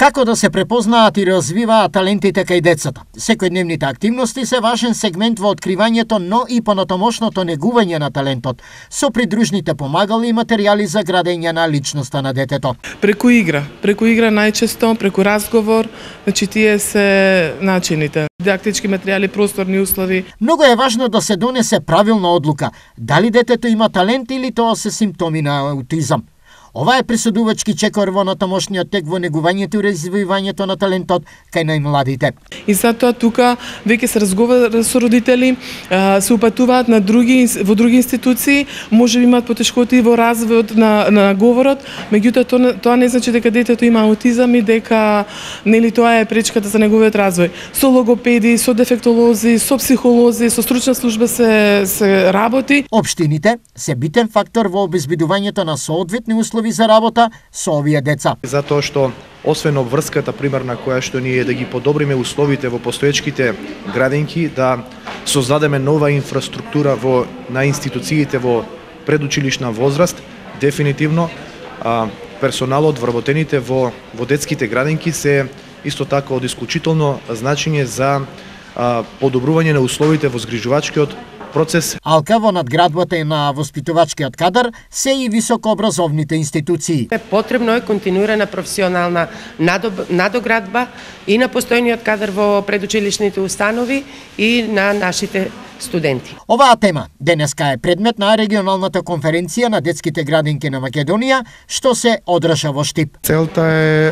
Како да се препознаат и развиваат талентите кај децата? Секојдневните активности се важен сегмент во откривањето, но и понатомошното негување на талентот, со придружните помагали и материјали за градење на личноста на детето. Преку игра најчесто, преку разговор, значи тие се начините. Дидактички материјали, просторни услови. Многу е важно да се донесе правилна одлука, дали детето има талент или тоа се симптоми на аутизам. Ова е пресудувачки чекор во натамошниот тек во негувањето и развивањето на талентот кај најмладите. И затоа тука веќе се разговара со родители, се упатуваат во други институции, може би имаат потешкоти во развојот на говорот, меѓутоа тоа не значи дека детето има аутизам и дека тоа е пречката за неговиот развој. Со логопеди, со дефектолози, со психолози, со стручна служба се работи. Општините се битен фактор во обезбедувањето на соодветни услови за работа со овие деца. Затоа што освен обврската примерна која што ние да ги подобриме условите во постоечките градинки, да создадеме нова инфраструктура на институциите во предучилишна возраст, дефинитивно персоналот вработените во детските градинки се исто така од исклучително значење за подобрување на условите во згрижувачкиот процес. Алка во надградбата на воспитувачкиот кадар се и високообразовните институции. Потребно е континуирана професионална надоградба и на постојниот кадар во предучилишните установи и на нашите студенти. Оваа тема денеска е предмет на регионалната конференција на детските градинки на Македонија, што се одржа во Штип. Целта е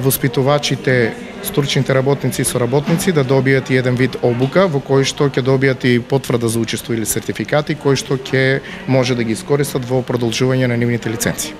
воспитувачите, стручните работници и соработници да добијат еден вид обука во кој што ќе добијат и потврда за учество или сертификати кои што ќе може да ги искористат во продолжување на нивните лиценци.